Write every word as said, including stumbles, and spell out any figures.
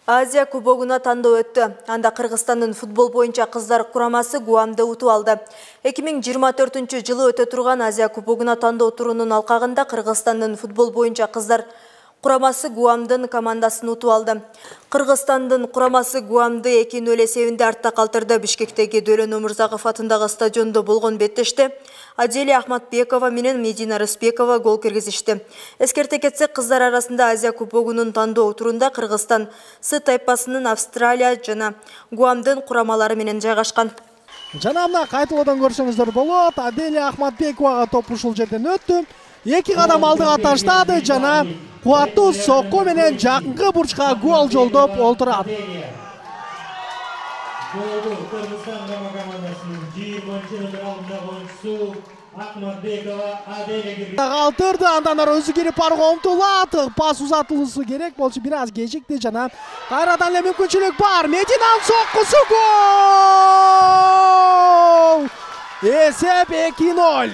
Азия кубогуна тандоо өттү. Анда Кыргызстандын футбол боюнча кыздар курамасы Гуамды утуп алды. эки миң жыйырма төртүнчү жылы өтө турган Азия кубогуна тандоо турунун алкагында Кыргызстандын футбол боюнча кыздар курамасы Гуамдын командасын утуп алды. Кыргызстандын курамасы Гуамды эки нөл эсебинде артта калтырды. Бишкектеги Дөлөн Омурзаков атындагы стадиондо болгон беттеште Аделия Ахматбекова менен Медина Рыспекова гол киргизишти. Эскерте кетсек, кыздар арасында Азия кубогунун тандоо турунда Кыргызстан С тайпасынын Австралия жана Гуамдын курамалары менен жайгашкан. Жана мына кайталоодан көрсөңүздөр болот. Аделия Ахматбековага топ ушул жерден өттү. Эки кадам алдыга таштады жана кубаттуу сокко менен жакынкы бурчка гол жолдоп олтурат. Калтырды, андан ары өзү кирип барууга умтулат. Пас узатылышы керек болчу, бир аз кечикти жана кайрадан эле мүмкүнчүлүк бар. Мединанын соккусу гол! Эсеп эки нөл.